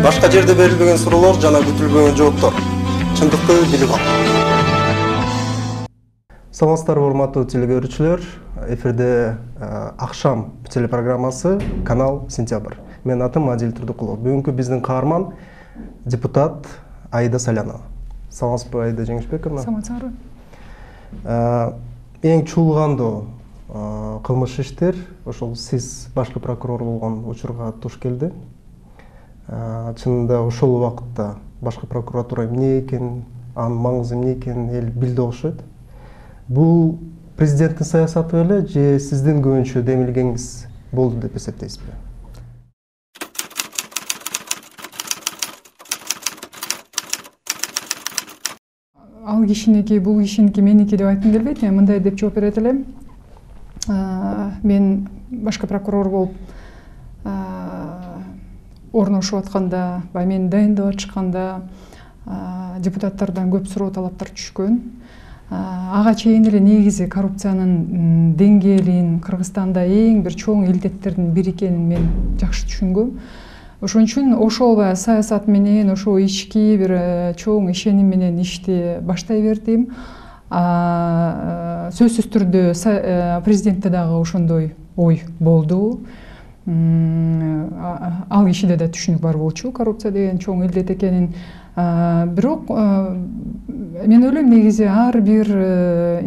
Башка жерде берилбеген суроолор жана күтүлбөгөн жооптор. Чындыкты билип ал. Саламатсыздарбы урматтуу телекөрүүчүлөр. Эфирде акшам телепрограммасы канал Сентябрь. Менин атым Адил Турдукулов. Бүгүнкү биздин каарман депутат Аида Салянова. Саламатсызбы, Аида Жеңишбековна? Саламатсызбы. Эң чуулгандуу кылмыш иштер ошол сиз башкы прокурор болгон учурга туш келди. Чынында ошол убакытта башкы прокуратура эмне экен, анын маңызы эмне экенин эл билди окшойт. Бул президенттин саясаты беле же сиздин көбүнчө демилгеңиз болду деп эсептейсизби? Ал кишиники, бул кишиники, меники деп айткым келбейт. Мен мындай деп жооп берет элем. Мен башкы прокурор болуп орношуп атканда, мени дайындап атышканда депутаттардан көп суроо талаптар түшкөн. Ага чейин эле негизи коррупциянын деңгээлин Кыргызстанда эң бир чоң илдеттердин бири экенин мен жакшы түшүнгөм. Ошон үчүн ошол саясат менен, ошол ички бир чоң ишеним менен ишти баштай бердим. Сөзсүз түрдө президентте дагы ошондой ой болду. Ал кишиде да түшүнүк бар болчу, коррупция деген чоң илдет экенин. Бирок мен ойлойм, негизи ар бир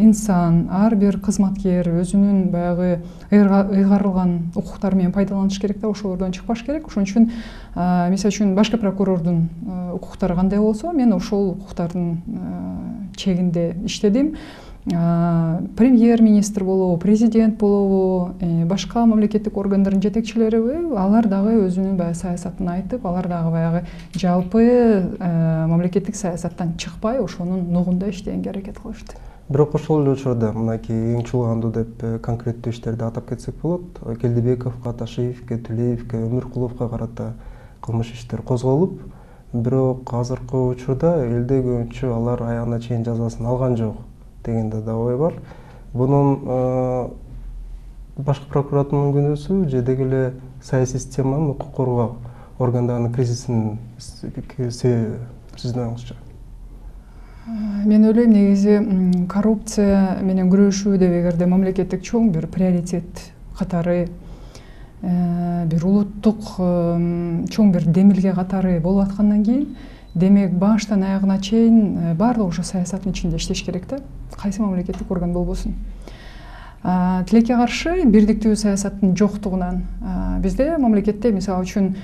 инсан, ар бир кызматкер өзүнүн баягы ыйгарылган укуктары менен пайдаланыш керек да, ошолордон чыкпаш керек. Ошон үчүн мисалы үчүн башкы прокурордун укуктары кандай болсо, мен ошол укуктардын чегинде иштедим. Премьер-министр болобу, президент болобу, башка мамлекеттик органдардын жетекчилери, алар дагы өзүнүн баягы саясатын айтып, алар дагы баягы жалпы мамлекеттик саясаттан чыкпай, ошонун нугунда иштегенге аракет кылышты. Бирок ошол эле учурда мынакей эң чуулгандуу деп конкреттүү иштерди атап кетсек болот. Келдибековго, Ташиевке, Түлеевке, Өмүркуловго карата кылмыш иштер козголуп, бирок азыркы учурда элде көбүнчө алар аягына чейин жазасын алган жок дегенде да ой бар. Бунун башкы прокуратуранын күнөөсү же деги эле саясий системанын, укук коргоо органдарынын кризисинин сиздин оюңузча? Мен ойлойм, негизи коррупция менен күрөшүү деп эгерде мамлекеттик чоң бир приоритет катары, бир улуттук чоң бир демилге катары болуп аткандан кийин, демек баштан аягына чейин баардыгы ошо саясаттын ичинде иштеш керек да, кайсы мамлекеттик орган болбосун. Тилекке каршы бирдиктүү саясаттын жоктугунан бизде мамлекетте мисалы үчүн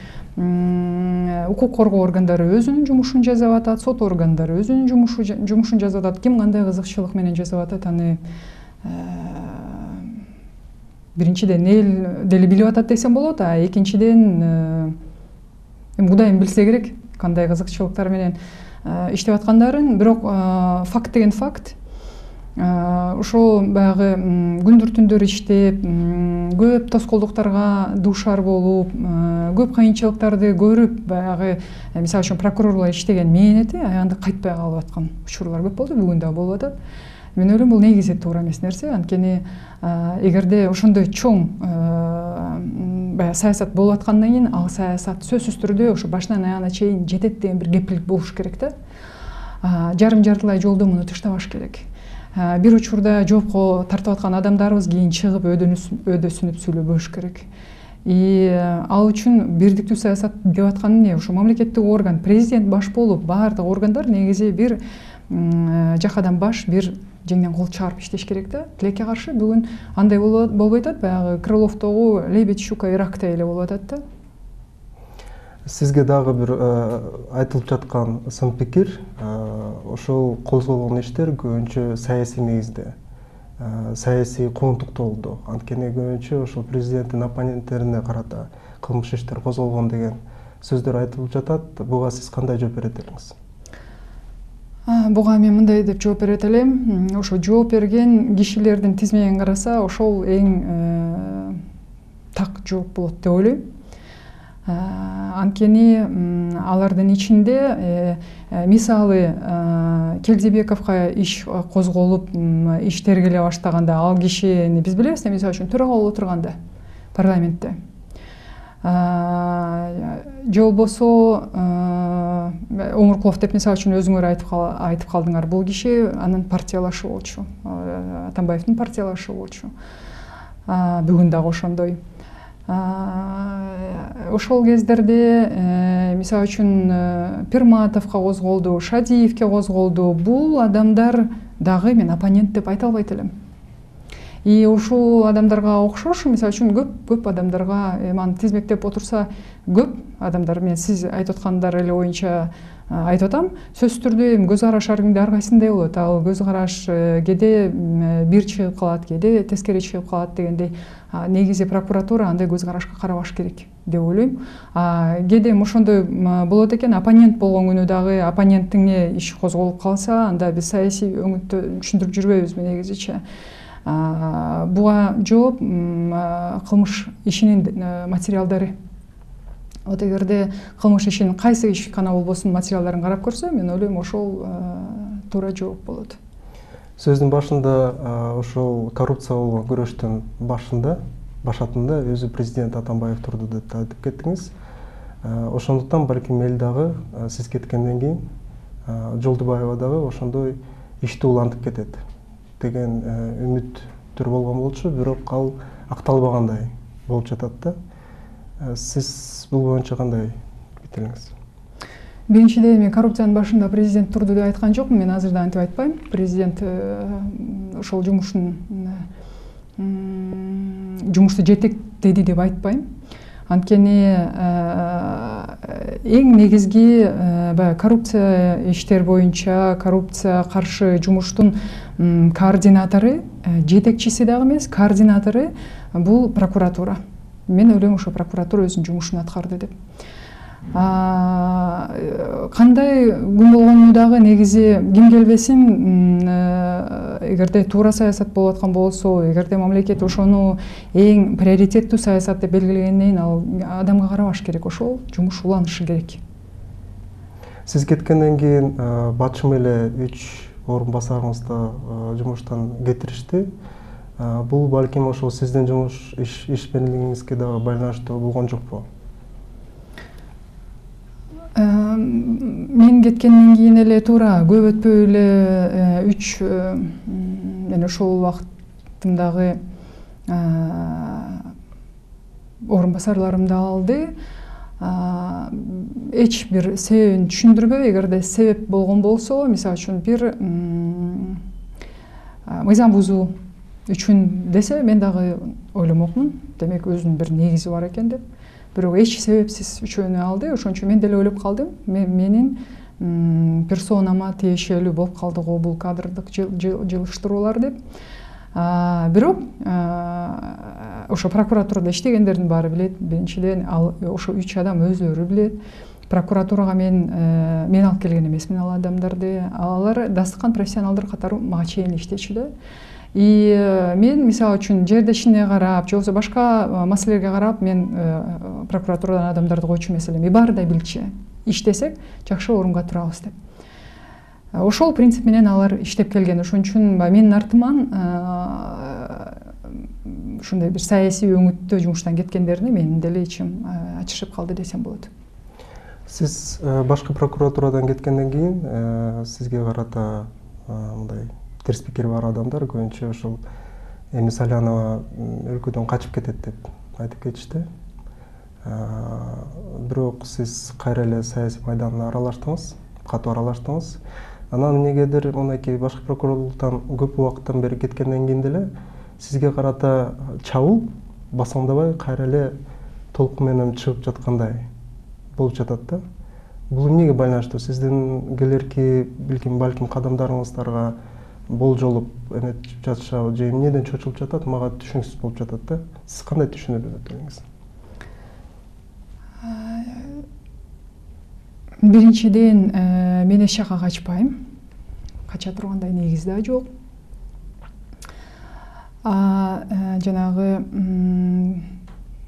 укук коргоо органдары өзүнүн жумушун жасап атат, сот органдары өзүнүн жумушун жасап атат. Ким кандай кызыкчылык менен жасап атат, аны биринчиден эл деле билип атат десем болот, а экинчиден Кудайым билсе керек кандай кызыкчылыктар менен иштеп аткандарын. Бирок факт деген факт. Ошо баягы күндүр түндөр иштеп, көп тоскоолдуктарга дуушар болуп, көп кыйынчылыктарды көрүп, баягы мисалы үчүн прокурорлор иштеген мээнети аягында кайтпай калып аткан учурлар көп болду, бүгүн да болуп атат. Мен ойлойм, бул негизи туура эмес нерсе. Анткени эгерде ошондой чоң саясат болуп аткандан кийин, ал саясат сөзсүз түрдө ошо башынан аягына чейин жетет деген бир кепилдик болуш керек да. Жарым-жартылай жолдо муну тыштабаш керек. Бир учурда жоопко тартып аткан адамдарыбыз кийин чыгып өдөсүнүп сүйлөбөш керек. Ал үчүн бирдиктүү саясат деп аткан эмне? Ошо мамлекеттик орган, президент баш болуп, баардык органдар негизи бир жакадан баш, бир жеңден кол чыгарып иштеш керек да. Тилекке каршы бүгүн андай болбой атат, баягы Крыловдогу лебедь, щука и рактай эле болуп атат да. Сизге дагы бир айтылып жаткан сын пикир, ошол козголгон иштер көбүнчө саясий негизде, саясий куугунтуктуу болду. Анткени көбүнчө ошол президенттин оппоненттерине карата кылмыш иштер козголгон деген сөздөр айтылып жатат. Буга сиз кандай жооп берет элеңиз? Буга мен мындай деп жооп берет элем. Ошо жооп берген кишилердин тизмегин караса, ошол эң так жооп болот деп ойлойм. Анткени алардын ичинде мисалы Келдибековго иш козголуп, иш тергеле баштаганда ал кишини биз билебиз, мисалы үчүн төрага болуп отурганда парламентте же болбосо Омуркулов деп мисалы үчүн өзүңөр айтып калдыңар, бул киши анын партиялашы болчу, Атамбаевдин партиялашы болчу. Бүгүн дагы ошондой. Ошол кездерде мисалы үчүн Пирматовго козголду, Шадиевке козголду. Бул адамдар дагы мен оппонент деп айта албайт элем. И ушул адамдарга окшош, мисалы үчүн көп адамдарга аны тизмектеп отурса, көп адамдар, мен сиз айтып аткандар эле боюнча айтып атам, сөзсүз түрдө көз караш ар кимде ар кайсындай болот. Ал көз караш кээде бир чыгып калат, кээде тескери чыгып калат дегендей. Негизи прокуратура андай көз карашка карабаш керек деп ойлойм. Кээде ошондой болот экен, оппонент болгон күнү дагы оппонентиңе иш козголуп калса, анда биз саясий өңүттө түшүндүрүп жүрбөйбүзбү негизичи. Буга жооп кылмыш ишинин материалдары. Вот эгерде кылмыш ишинин кайсы иш гана болбосун материалдарын карап көрсө, мен ойлойм ошол туура жооп болот. Сөздүн башында ошол коррупция болгон күрөштүн башатында өзү президент Атамбаев турду деп айтып кеттиңиз. Ошондуктан балким эл дагы сиз кеткенден кийин Жолдубаева дагы ошондой ишти улантып кетет деген үмүттөр болгон болчу, бирок ал акталбагандай болуп жатат да. Сиз бул боюнча кандай пикириңиз? Биринчиден, мен коррупциянын башында президент турду деп айткан жокмун. Мен азырда антип айтпайм. Президент ошол жумушту жетектеди деп айтпайм. Анткени эң негизги баягы коррупция иштер боюнча, коррупция каршы жумуштун координатору, жетекчиси дагы эмес, координатору бул прокуратура. Мен ойлойм, ошо прокуратура өзүнүн жумушун аткарды деп. Кандай күн болгону дагы негизи ким келбесин, эгерде туура саясат болуп аткан болсо, эгерде мамлекет ошону эң приоритеттүү саясат деп белгилегенден кийин ал адамга карабаш керек, ошол жумуш уланышы керек. Сиз кеткенден кийин батышым эле 3 орун басарыңызды жумуштан кетиришти. Бул балким ошол сиздин жумуш ишмерлигиңизге дагы байланыштуу болгон жокпу? Мен кеткенден кийин эле туура көп өтпөй эле 3 мен ошол убактымдагы орун басарларымды алды. Эч бир себебин түшүндүрбөй, эгерде себеп болгон болсо, мисалы үчүн бир мыйзам бузуу үчүн десе, мен дагы ойломокмун. Демек өзүнүн бир негизи бар экен деп. Бирок эч себепсиз үчөөнү алды. Ошон үчүн мен деле ойлоп калдым. Менин персонама тиешелүү болуп калды го бул кадрдык жылыштыруулар деп. Бирок ошо прокуратурада иштегендердин баары билет. Биринчиден, ошо 3 адам өзүлөрү билет. Прокуратурага мен алып келген эмесмин ал адамдарды. Алар дастыкан профессионалдар катары мага чейин иштечү да. И мен мисалы үчүн жердешине карап, же болбосо башка маселелерге карап, мен прокуратурадан адамдарды койчу эмес элем. Баарыдай билчү. Иштесек жакшы орунга турабыз деп. Ошол принцип менен алар иштеп келген. Ошон үчүн менин артыман ушундай бир саясий өңүттө жумуштан кеткендерине менин деле ичим ачышып калды десем болот. Сиз башкы прокуратурадан кеткенден кийин сизге карата мындай терс пикири бар адамдар көбүнчө ошол Эми Салянова өлкөдөн качып кетет деп айтып кетишти. Бирок сиз кайра эле саясий майданда аралаштыңыз, катуу аралаштыңыз. Анан эмнегедир мынакей башкы прокурорлуктан көп убакыттан бери кеткенден кийин деле сизге карата чабуул басаңдабай кайра эле толкун менен чыгып жаткандай болуп жатат да. Бул эмнеге байланыштуу? Сиздин келерки балким кадамдарыңыздарга болжолуп эметип жатышабы же эмнеден чочулуп жатат, мага түшүнүксүз болуп жатат да. Сиз кандай түшүнүп өтөңүз? Биринчиден, мен эч жака качпайм. Кача тургандай негиз да жок. Жанагы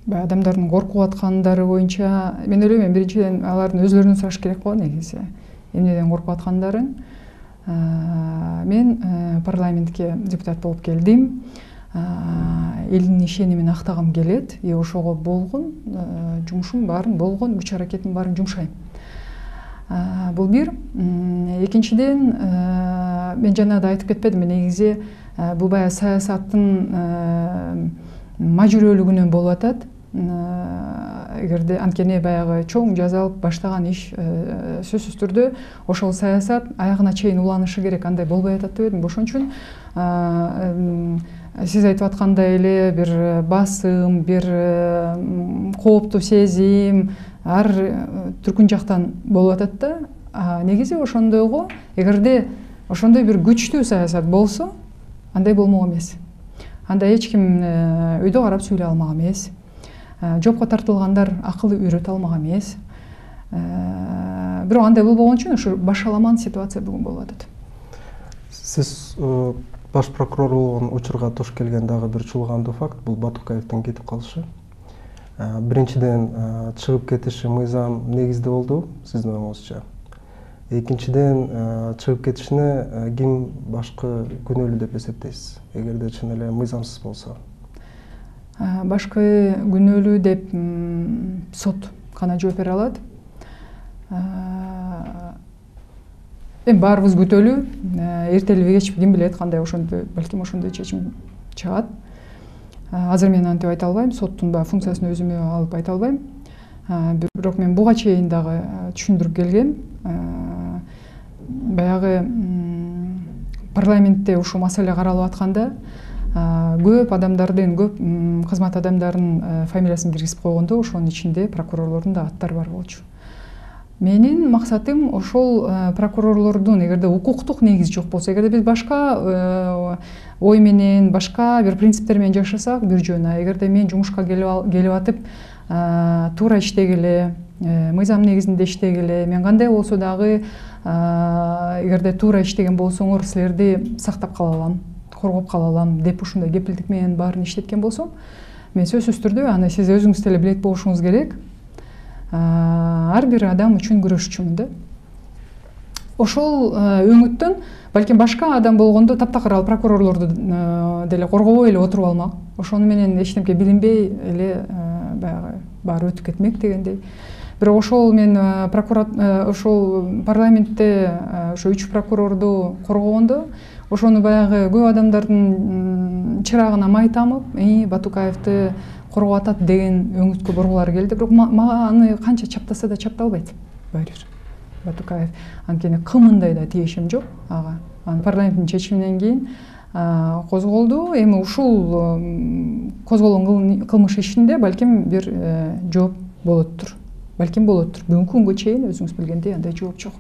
адамдардын коркуп аткандары боюнча мен ойлойм, биринчиден алардын өзлөрүнөн сураш керек го негизи. Эмнеден коркуп аткандарын. Мен парламентке депутат болуп келдим. элдин ишенимин актагым келет, и ошого болгон жумушум баарын, болгон күч аракетим баарын жумшайм. Бул бир. Экинчиден, мен жана да айтып кетпедимби, негизи бул баягы саясаттын мажүрөлүгүнөн болуп атат. Эгерде анткени баягы чоң жазалып баштаган иш сөзсүз түрдө ошол саясат аягына чейин уланышы керек, андай болбой атат дебедимби. Ошон үчүн сиз айтып аткандай эле бир басым, бир кооптуу сезим ар түркүн жактан болуп атат да. Негизи ошондойго, эгерде ошондой бир күчтүү саясат болсо, андай болмок эмес. Анда эч ким өйдө карап сүйлөй алмак эмес. Жопко тартылгандар акыл үйрөтө алмак эмес. Бирок андай болбогон үчүн ушу башаламан ситуация бүгүн болуп атат. Сиз баш прокурор болгон учурга туш келген дагы бир чуулгандуу факт бул Батукаевдин кетип калышы. Биринчиден чыгып кетиши мыйзам негизде болду, сиздин оюңузча. Экинчиден чыгып кетишине ким башкы күнөөлүү деп эсептейсиз, эгерде чын эле мыйзамсыз болсо? Башкы күнөөлүү деп сот гана жооп бере алат. Эми баарыбыз күтөлү, эртелиби кечпи ким билет кандай ошондой, балким ошондой чечим чыгат. Азыр мен антип айта албайм, соттун баягы функциясын өзүмө алып айта албайм. Бирок мен буга чейин дагы түшүндүрүп келгем. Баягы парламентте ушул маселе каралып атканда көп адамдардын, көп кызмат адамдарынын фамилиясын киргизип койгондо ошонун ичинде прокурорлордун да аттары бар болчу. Менин максатым ошол прокурорлордун, эгерде укуктук негиз жок болсо, эгерде биз башка ой менен, башка бир принциптер менен жашасак бир жөн. Эгерде мен жумушка келип атып туура иштегиле, мыйзам негизинде иштегиле, мен кандай болсо дагы эгерде туура иштеген болсоңор силерди сактап кала алам, коргоп кала алам деп ушундай кепилдик менен баарын иштеткен болсом, мен сөзсүз түрдө аны сиз өзүңүз деле билет болушуңуз керек. Ар бир адам үчүн күрөшчүмүн да. Ошол өңүттөн балким башка адам болгондо таптакыр ал прокурорлорду деле коргобой эле отуруп алмак. Ошону менен эч нерсе билинбей эле баягы баары өтүп кетмек дегендей. Бирок ошол мен ошол парламентте ошо 3 прокурорду коргогондо, ошону баягы көп адамдардын чырагына май тамып, Батукаевди коргоп атат деген өңүткө боргулары келди. Бирок мага аны канча чаптаса да чапта албайт баары бир Батукаев. Анткени кымындай да тиешим жок ага. Анын парламенттин чечиминен кийин козголду. Эми ушул козголгон кылмыш ишинде балким бир жооп болоттур. Балким болоттур. Бүгүнкү күнгө чейин өзүңүз билгендей андай жооп жок.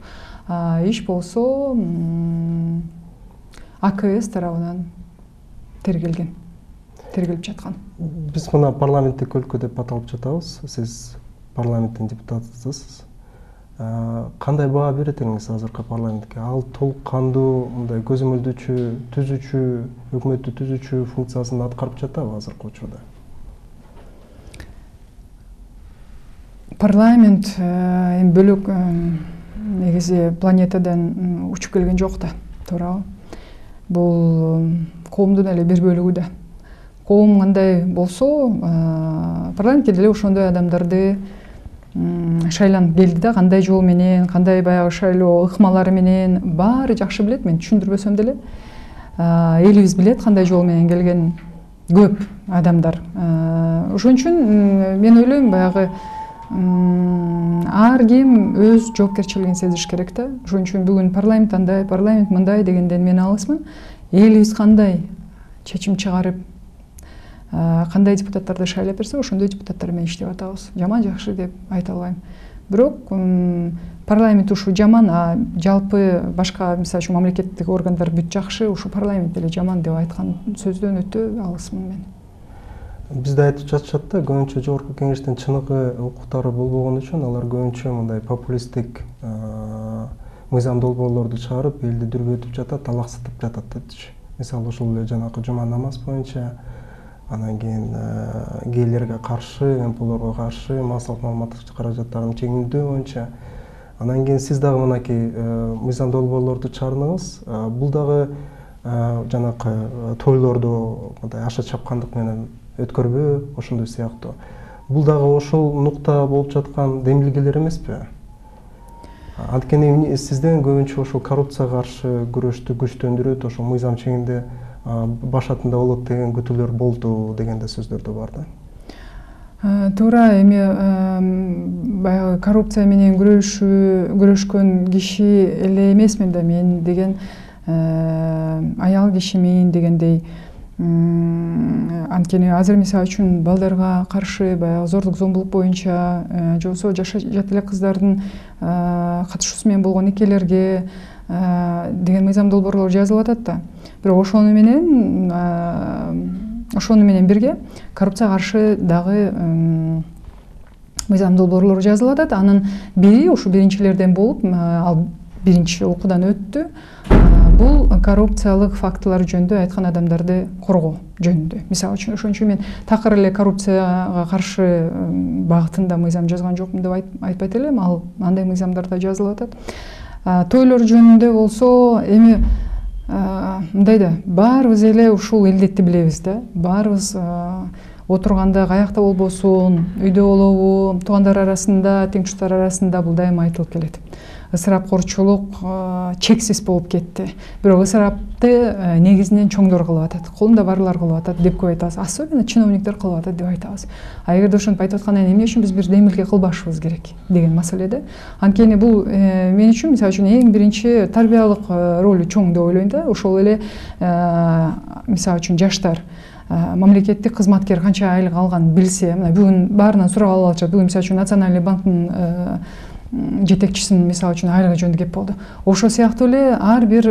Иш болсо АКС тарабынан тергелип жаткан. Биз мына парламенттик өлкө деп аталып жатабыз. Сиз парламенттин депутатысыз. Кандай баа берет элиңиз азыркы парламентке? Ал толук кандуу, мындай көзөмөлдөөчү, түзүүчү, өкмөттү түзүүчү функциясын аткарып жатабы азыркы учурда? Парламент эми бөлөк негизи планетадан учуп келген жок да, туурабы? Бул коомдун эле бир бөлүгү да. Коом кандай болсо, парламентке деле ошондой адамдарды шайланып келди да, кандай жол менен, кандай баягы шайлоо ыкмалары менен баары жакшы билет, мен түшүндүрбөсөм деле. Элибиз билет кандай жол менен келген көп адамдар. Ошон үчүн мен ойлойм баягы ар ким өз жоопкерчилигин сезиш керек да. Ошон үчүн бүгүн парламент андай, парламент мындай дегенден мен алысмын. Элибиз кандай чечим чыгарып, кандай депутаттарды шайлап берсе, ошондой депутаттар менен иштеп атабыз. Жаман жакшы деп айта албайм. Бирок парламент ушу жаман, жалпы башка мисалы үчүн мамлекеттик органдар бүт жакшы, ушу парламент деле жаман деп айткан сөздөн өтө алысмын мен. Бизде айтып жатышат да, көбүнчө жогорку кеңештин чыныгы укуктары болбогон үчүн алар көбүнчө мындай популисттик мыйзам долбоорлорду чыгарып, элди дүрбөтүп жатат, талаксытып жатат депчи. Мисалы ошол эле жанакы жума намаз боюнча, анан кийин гейлерге каршы, МПлорго каршы, массалык маалыматтык каражаттарын чегиндөө боюнча. Анан кийин сиз дагы мынакей мыйзам долбоорлорду чыгардыңыз. Бул дагы жанакы тойлорду мындай аша чапкандык менен өткөрбөө ошондой сыяктуу. Бул дагы ошол нукта болуп жаткан демилгелер эмеспи? Анткени сизден көбүнчө ошол коррупцияга каршы күрөштү күчтөндүрөт, ошол мыйзам чегинде башатында болот деген күтүүлөр болду деген да сөздөр да бар да. Туура, эми баягы коррупция менен күрөшкөн киши эле эмесмин да мен деген аял кишимин дегендей. Анткени азыр мисалы үчүн балдарга каршы баягы зордук зомбулук боюнча же болбосо жат эле кыздардын катышуусу менен болгон никелерге деген мыйзам долбоорлор жазылып атат да. Бирок ошону менен бирге коррупцияга каршы дагы мыйзам долбоорлор жазылып атат. Анын бири ушу биринчилерден болуп, ал биринчи окуудан өттү. Бул коррупциялык фактылар жөнүндө айткан адамдарды коргоо жөнүндө. Мисалы үчүн ошон үчүн мен такыр эле коррупцияга каршы багытында мыйзам жазган жокмун деп айтпайт элем. Ал андай мыйзамдар да жазылып атат. Тойлор жөнүндө болсо эми мындай да баарыбыз эле ушул илдетти билебиз да. Баарыбыз отурганда каякта болбосун, үйдө болобу, туугандар арасында, тең туштар арасында бул дайыма айтылып келет. Ысырапкорчулук чексиз болуп кетти. Бирок ысырапты негизинен чоңдор кылып атат, колунда барлар кылып атат деп көп айтабыз. Особенно чиновниктер кылып атат деп айтабыз. Эгерде ошентип айтып аткандан кийин эмне үчүн биз бир демилге кылбашыбыз керек деген маселе да. Анткени бул мен үчүн мисалы үчүн эң биринчи тарбиялык ролу чоң деп ойлойм да. Ошол эле мисалы үчүн жаштар мамлекеттик кызматкер канча айлык алганын билсе, мына бүгүн баарынан сурап алып атышат. Бүгүн мисалы үчүн Национальный банктын жетекчисинин мисалы үчүн айлыгы жөнүндө кеп болду. Ошол сыяктуу эле ар бир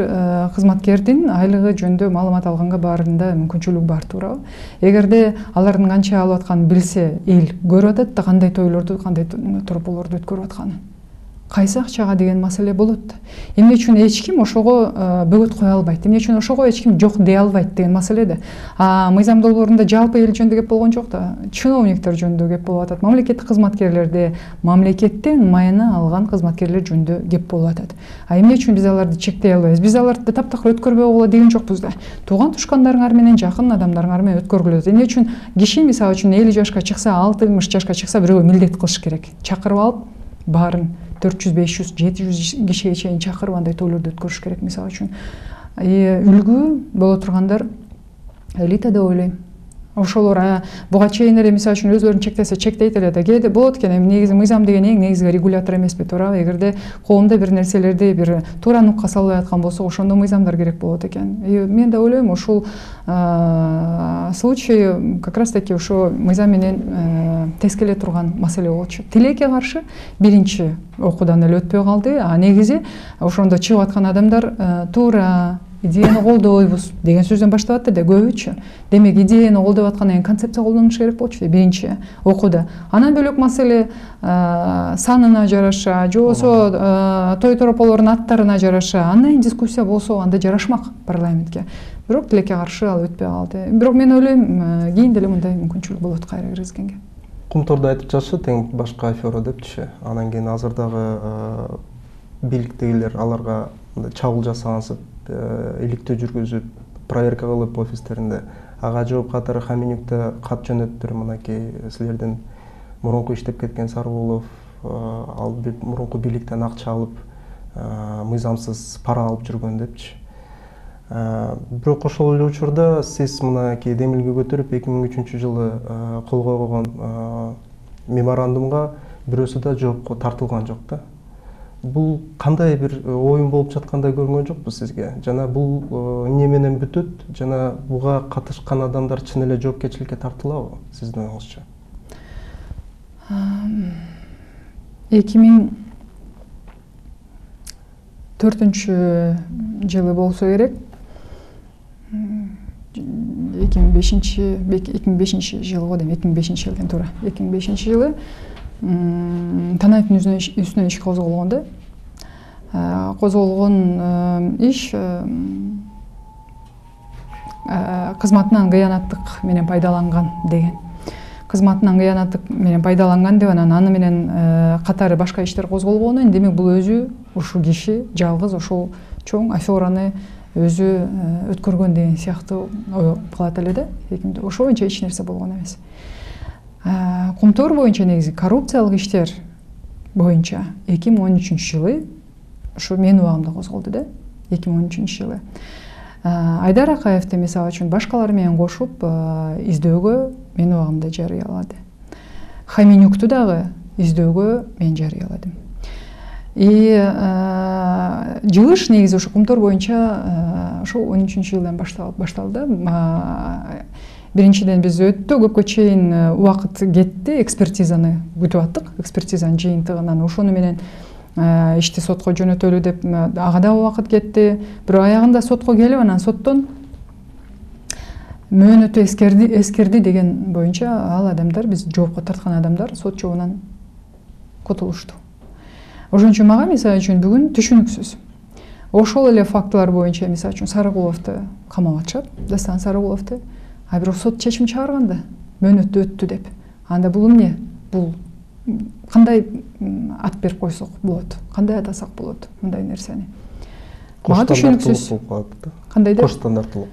кызматкердин айлыгы жөнүндө маалымат алганга баарында мүмкүнчүлүк бар, туурабы? Эгерде алардын канча алып атканын билсе, эл көрүп атат да кандай тойлорду, кандай торболорду өткөрүп атканын. Кайсы акчага деген маселе болот. Эмне үчүн эч ким ошого бөгөт кое албайт? Эмне үчүн ошого эч ким жок дей албайт деген маселе да. Мыйзам долбоорунда жалпы эл жөнүндө кеп болгон жок да. Чиновниктер жөнүндө кеп болуп атат. Мамлекеттик кызматкерлерде мамлекеттен майына алган кызматкерлер жөнүндө кеп болуп атат. Эмне үчүн биз аларды чектей албайбыз? Биз аларды таптакыр өткөрбөй койгула деген жокпуз да. Тууган тушкандарыңар менен, жакын адамдарыңар менен өткөргүлө. Эмне үчүн киши мисалы үчүн 50 жашка чыкса, 60 жашка чыкса бирөөгө милдет кылыш керек. Чакырып алып, баарын 400, 500, 700 кишиге чейин чакырып андай тойлорду өткөрүш керек мисалы үчүн. Үлгү боло тургандар элита деп ойлойм. Ошолор буга чейин эле мисалы үчүн өзлөрүн чектесе чектейт эле да. Кээде болот экен, эми негизи мыйзам деген эң негизги регулятор эмеспи, туурабы? Эгерде коомдо бир нерселерди бир туура нукка салбай аткан болсо, ошондо мыйзамдар керек болот экен. Мен да ойлойм, ушул случай как раз таки ошо мыйзам менен тез келе турган маселе болчу. Тилекке каршы биринчи окуудан эле өтпөй калды. Негизи ошондо чыгып аткан адамдар туура идеяны колдойбуз деген сөздөн баштап атты да көбүчө. Демек идеяны колдоп аткандан кийин концепция колдонуш керек болчу биринчи окууда. Анан бөлөк маселе санына жараша, же болбосо той торополордун аттарына жараша андан дискуссия болсо анда жарашмак парламентке. Бирок тилекке каршы ал өтпөй калды. Бирок мен ойлойм, кийин деле мындай мүмкүнчүлүк болот кайра киргизгенге. Кумтордо айтып жатышат тең башка афера депчи. Анан кийин азырдагы бийликтегилер аларга чабуул жасагансып, иликтөө жүргүзүп, проверка кылып офистеринде. Ага жооп катары Хаменюкта кат жөнөттүр, мынакей силердин мурунку иштеп кеткен Сарбулов, ал мурунку бийликтен акча алып, мыйзамсыз пара алып жүргөн депчи. Бирок ошол эле учурда сиз мынакей демилге көтөрүп 2003 жылы колго койгон меморандумга бирөөсү да жоопко тартылган жок да. Бул кандай бир оюн болуп жаткандай көрүнгөн жокпу сизге? Жана бул эмне менен бүтөт? Жана буга катышкан адамдар чын эле жоопкерчиликке тартылабы сиздин оюңузча? 2004 жылы болсо керек. 2005 жылы го дейм, 2005 жылдан туура. 2005 жылы Танаевдин үстүнөн иш козголгон да. Козголгон иш кызматынан кыянаттык менен пайдаланган деген. Кызматынан кыянаттык менен пайдаланган деп анан аны менен катары башка иштер козголгону, демек бул өзү ушу киши жалгыз ошол чоң афераны өзү өткөргөн деген сыяктуу ой кылат эле да. Ошо боюнча эч нерсе болгон эмес. Кумтор боюнча негизи коррупциялык иштер боюнча 2013-жылы ушу менин убагымда козголду да. 2013-жылы Айдар Акаевди мисалы үчүн башкалар менен кошуп издөөгө менин убагымда жарыялады. Хаменюкту дагы издөөгө мен жарыяладым. Жылыш негизи ошо Кумтор боюнча ошо 13-жылдан башталды. Биринчиден биз өтө көпкө чейин убакыт кетти, экспертизаны күтүп аттык, экспертизанын жыйынтыгынан. Ошону менен ишти сотко жөнөтөлү деп ага да убакыт кетти. Бирок аягында сотко келип, анан соттон мөөнөтү эскерди деген боюнча ал адамдар, биз жоопко тарткан адамдар сот жообунан кутулушту. Ошон үчүн мага мисалы үчүн бүгүн түшүнүксүз. Ошол эле фактылар боюнча мисалы үчүн Сарыгуловду камап атышат, Дастан Сарыгуловду. А бирок сот чечим чыгарганда мөөнөтү өттү деп. Анда бул эмне? Бул кандай ат берип койсок болот? Кандай атасак болот мындай нерсени? Мага түшүнүксүз. Кандай деп? Кош стандарттуулук.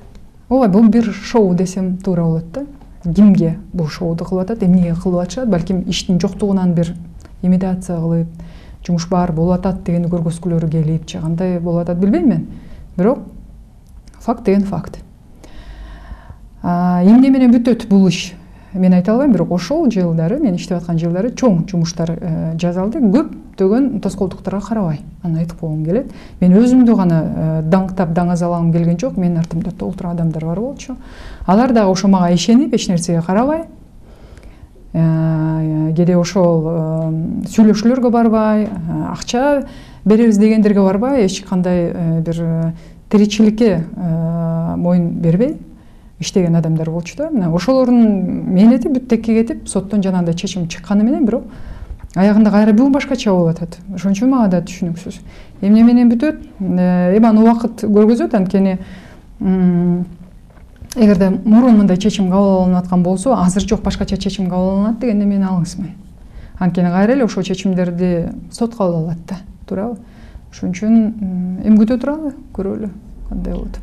Ооба, бул бир шоу десем туура болот да. Кимге бул шоуду кылып атат, эмнеге кылып атышат? Балким иштин жоктугунан бир имитация кылып, жумуш бар болуп атат дегенди көргөзгүлөрү келип, же кандай болуп атат билбейм мен. Бирок факт деген факт. Эмне менен бүтөт бул иш? Мен айта албайм, бирок ошол жылдары, мен иштеп аткан жылдары чоң жумуштар жасалды. Көптөгөн тоскоолдуктарга карабай, аны айтып койгум келет. Мен өзүмдү гана даңктап, даңазалагым келген жок, менин артымда толтура адамдар бар болчу. Алар дагы ошо мага ишенип, эч нерсеге карабай, кээде ошол сүйлөшүүлөргө барбай, акча беребиз дегендерге барбай, эч кандай бир тиричиликке моюн бербей иштеген адамдар болчу да. Мына ошолордун мээнети бүттекке кетип, соттон жанагындай чечим чыкканы менен, бирок аягында кайра бүгүн башкача болуп атат. Ошон үчүн мага да түшүнүксүз. Эмне менен бүтөт? Эми аны убакыт көргөзөт, анткени эгерде мурун мындай чечим кабыл алынып аткан болсо, азыр жок, башкача чечим кабыл алынат дегенде мен алыңызмын. Анткени кайра эле ошол чечимдерди сот кабыл алат да, туурабы? Ошон үчүн эми күтө туралы, көрөлү кандай болот.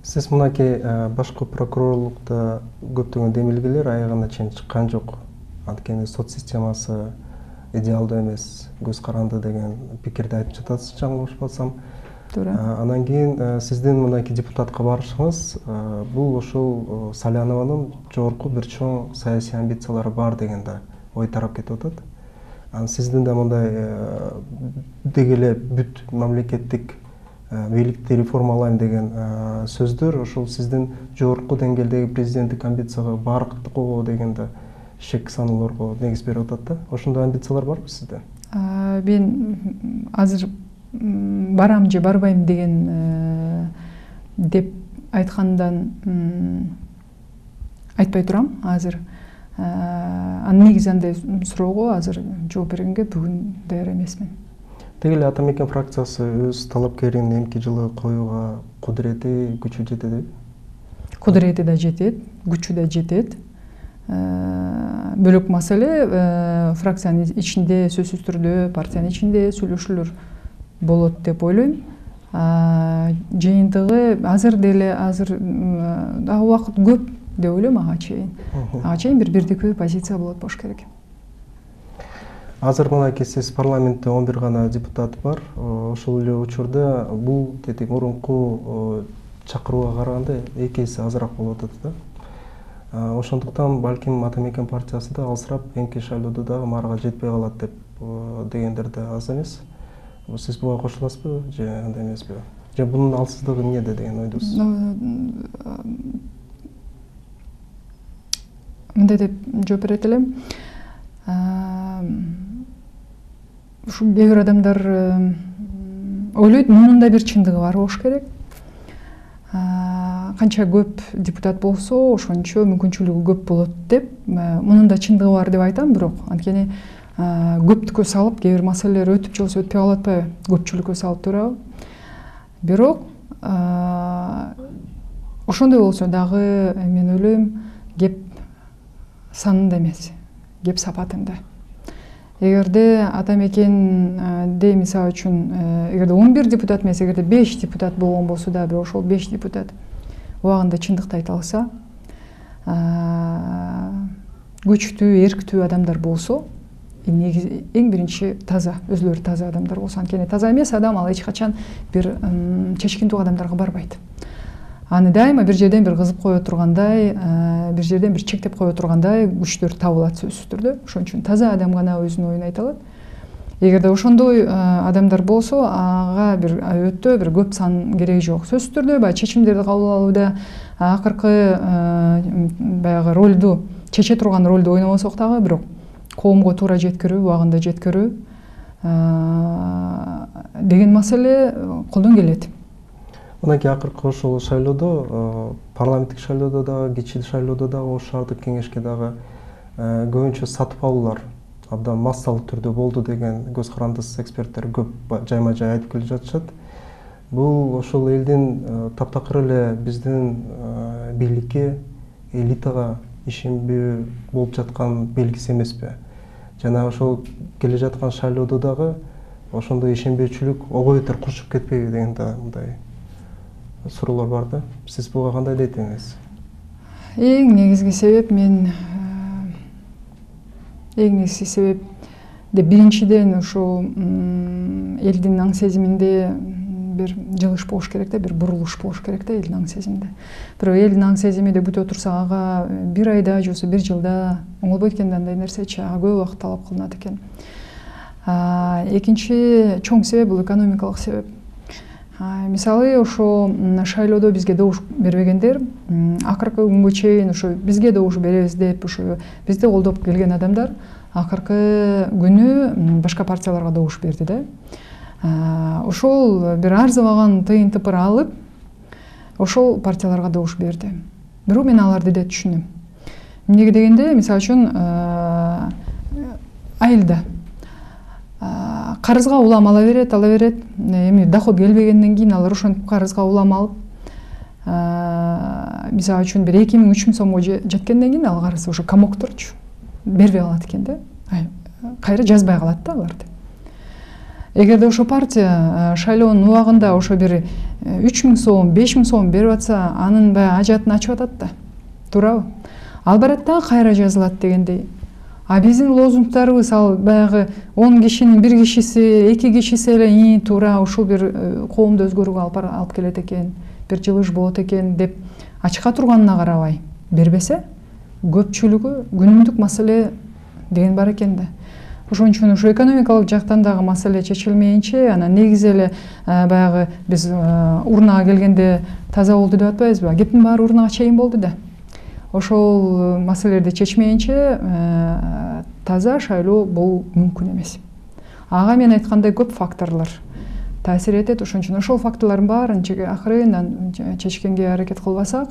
Сиз мынакей башкы прокурорлукта көптөгөн демилгелер аягына чейин чыккан жок. Анткени сот системасы идеалдуу эмес, көз каранды деген пикирди айтып жатасыз, жаңылышпасам. Туура. Анан кийин сиздин мынакей депутатка барышыңыз бул ошол Салянованын жогорку бир чоң саясий амбициялары бар деген да ой тарап кетип атат. Анан сиздин да мындай деги эле бүт мамлекеттик бийликти реформалайм деген сөздөр ошол сиздин жогорку деңгээлдеги президенттик амбицияга баркытго деген да шек саноолорго негиз берип атат да. Ошондой амбициялар барбы сизде? Мен азыр барам же барбайм деген деп айткандан айтпай турам азыр. Анын негизи андай суроого азыр жооп бергенге бүгүн даяр эмесмин. Теги эле Ата Мекен фракциясы өз талапкерин эмки жылы коюуга кудурети, күчү жетеби? Кудурети да жетет, күчү да жетет. Бөлөк маселе фракциянын ичинде сөзсүз түрдө, партиянын ичинде сүйлөшүүлөр болот деп ойлойм. Жыйынтыгы азыр деле дагы убакыт көп деп ойлойм ага чейин. Ага чейин бир бирдиктүү позиция болот болуш керек. Азыр мынакей сиз парламентте 11 гана депутат бар. Ошол эле учурда бул мурунку чакырууга караганда 2 эсе азыраак болуп атат да. Ошондуктан балким Ата Мекен партиясы да алсырап эмки шайлоодо дагы марга жетпей калат деп дегендер да аз эмес. Сиз буга кошуласызбы же андай эмеспи? Же бунун алсыздыгы эмнеде деген ойдосуз? Мындай деп жооп берет элем. Ушул кээ бир адамдар ойлойт, мунун да бир чындыгы бар болуш керек. Канча көп депутат болсо, ошончо мүмкүнчүлүгү көп болот деп, мунун да чындыгы бар деп айтам, бирок анткени көптүккө салып, кээ бир маселелер өтүп же болбосо өтпөй калып атпайбы, көпчүлүккө салып туурабы. Бирок ошондой болсо дагы мен ойлойм, кеп санында эмес, кеп сапатында. эгерде ата мекенде мисалы үчүн эгерде 11 депутат эмес, эгерде 5 депутат болгон болсо дагы бирок ошол 5 депутат убагында чындыкты айта алса, күчтүү, эрктүү адамдар болсо, эң биринчи таза, өзүлөрү таза адамдар болсо, анткени таза эмес адам ал эч качан бир чечкиндүү адамдарга барбайт. Аны дайыма бир жерден бир кызып кое тургандай, бир жерден бир чектеп кое тургандай күчтөр табылат сөзсүз түрдө. Ошон үчүн таза адам гана өзүнүн оюн айта алат. Эгерде ошондой адамдар болсо, ага бир өтө бир көп сан кереги жок. Сөзсүз түрдө баягы чечимдерди кабыл алууда акыркы баягы ролду, чече турган ролду ойнобосок дагы, бирок коомго туура жеткирүү, убагында жеткирүү деген маселе колдон келет. Мындан кийин акыркы ошол шайлоодо, парламенттик шайлоодо дагы, кичи шайлоодо дагы, ош шаардык кеңешке дагы көбүнчө сатып алуулар абдан массалык түрдө болду деген көз карандысыз эксперттер көп жайма жай айтып келе жатышат. Бул ошол элдин таптакыр эле биздин бийликке, элитага ишенбөө болуп жаткан белгиси эмеспи? Жана ошол келе жаткан шайлоодо дагы ошондой ишенбөөчүлүк ого бетер курчуп кетпейби деген да мындай суроолор бар да. Сиз буга кандай дейт элеңиз? Эң негизги себеп биринчиден ошо элдин аң сезиминде бир жылыш болуш керек да, бир бурулуш болуш керек да элдин аң сезиминде. Бирок элдин аң сезими деп бүтө турсак, ага бир айда же болбосо бир жылда оңолбойт экен, андай нерсечи, ага көп убакыт талап кылынат экен. Экинчи чоң себеп бул экономикалык себеп. Мисалы ошо шайлоодо бизге добуш бербегендер, акыркы күнгө чейин ошо бизге добуш беребиз деп ошо бизди колдоп келген адамдар акыркы күнү башка партияларга добуш берди да. Ошол бир арзыбаган тыйын тыпыр алып, ошол партияларга добуш берди. Бирок мен аларды да түшүнөм. Эмнеге дегенде, мисалы үчүн айылда карызга улам ала берет, эми доход келбегенден кийин алар ошентип карызга улам алып, мисалы үчүн бир 2000–3000 сомго жеткенден кийин ал карыз ошо комокторчу бербей калат экен да. Кайра жазбай калат да аларды. Эгерде ошо партия шайлоонун убагында ошо бир 3000 сом, 5000 сом берип атса, анын баягы ажатын ачып атат да. Туурабы? Ал барат да кайра жазылат дегендей. Биздин лозунгдарыбыз ал баягы 10 кишинин 1 кишиси, 2 кишиси эле туура ушул бир коомду өзгөрүүгө алып келет экен, бир жылыш болот экен деп ачка турганына карабай бербесе, көпчүлүгү күнүмдүк маселе деген бар экен да. Ошон үчүн ушу экономикалык жактан дагы маселе чечилмейинче, анан негизи эле баягы биз урнага келгенде таза болду деп атпайбызбы? Кептин баары урнага чейин болду да. Ошол маселелерди чечмейинче таза шайлоо болуу мүмкүн эмес. Ага мен айткандай көп факторлор таасир этет. Ошон үчүн ошол факторлордун баарын акырындан чечкенге аракет кылбасак,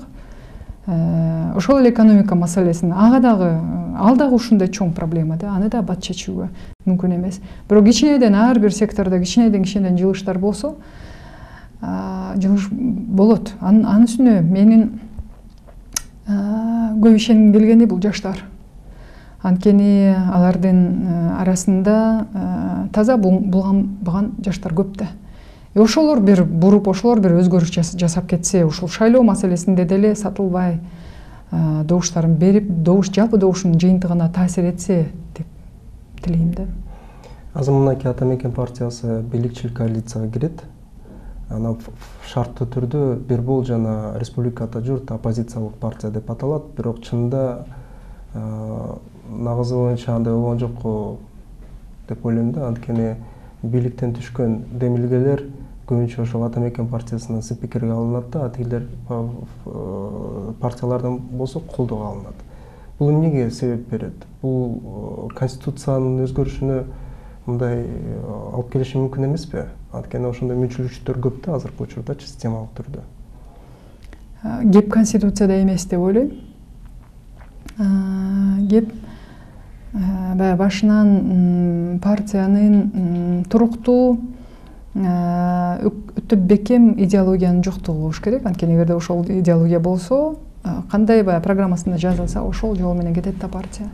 ошол эле экономика маселесин, ал дагы ушундай чоң проблема да, аны да бат чечүүгө мүмкүн эмес. Бирок кичинеден ар бир сектордо кичинеден жылыштар болсо, жылыш болот. Анын үстүнө менин көп ишенгим келгени бул жаштар. Анткени алардын арасында таза булганбаган жаштар көп да. Ошолор бир буруп, ошолор бир өзгөрүш жасап кетсе, ушул шайлоо маселесинде деле сатылбай добуштарын берип, жалпы добуштун жыйынтыгына таасир этсе деп тилейм да. Азыр мынакей ата мекен партиясы бийликчил коалицияга кирет. Ана шарттуу түрдө бир бул жана республикада журт оппозициялык партия деп аталат, бирок чынында нагызы боюнча андай болгон жокко деп ойлойм да. Анткени бийликтен түшкөн демилгелер көбүнчө ошол ата мекен партиясынын спикерге алынат да, тигилер партиялардан болсо колдоого алынат. Бул эмнеге себеп берет? Бул конституциянын өзгөрүшүнө мындай алып келиши мүмкүн эмеспи? Анткени ошондой мүнчүлүктөр көп да азыркы учурда системалык түрдө. Кеп конституцияда эмес деп ойлойм. Кеп баягы башынан партиянын туруктуу өтө бекем идеологиянын жоктугу болуш керек. Анткени эгерде ошол идеология болсо, кандай баягы программасында жазылса, ошол жол менен кетет да партия.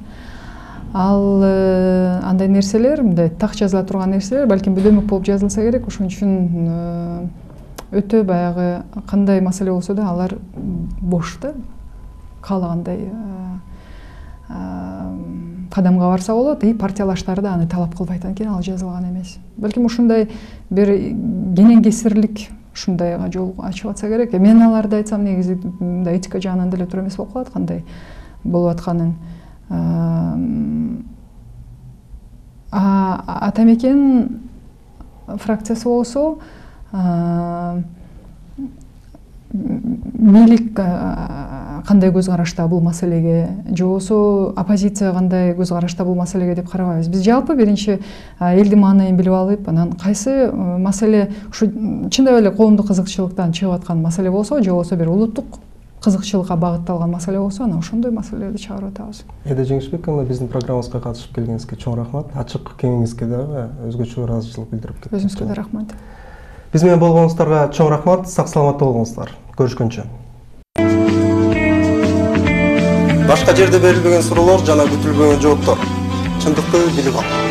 ал андай нерселер, мындай так жазыла турган нерселер балким бөлөмөк болуп жазылса керек. Ошон үчүн өтө баягы кандай маселе болсо да алар бош да, каалагандай кадамга барса болот. И партиялаштар да аны талап кылбайт анткени ал жазылган эмес. Балким ушундай бир кенен кесирлик ушундайга жол ачып атса керек. Мен аларды айтсам негизи мындай этика жагынан деле туура эмес болуп калат кандай болуп атканын. Ата мекен фракциясы болсо бийлик кандай көз карашта бул маселеге, же болбосо оппозиция кандай көз карашта бул маселеге деп карабайбыз. Биз жалпы биринчи элдин маанайын билип алып, анан кайсы маселе ушу чындап эле коомдук кызыкчылыктан чыгып аткан маселе болсо, же болбосо бир улуттук кызыкчылыкка багытталган маселе болсо, анан ошондой маселелерди чыгарып атабыз. Эде Жеңишбековна, биздин программабызга катышып келгениңизге чоң рахмат. Ачык кеңиңизге дагы өзгөчө ыраазычылык билдирип кеттиңиз. Өзүңүзгө да рахмат. Биз менен болгонуңуздарга чоң рахмат. Сак саламатта болуңуздар. Көрүшкөнчө. Башка жерде берилбеген суроолор жана күтүлбөгөн жооптор. Чындыкты билип ал.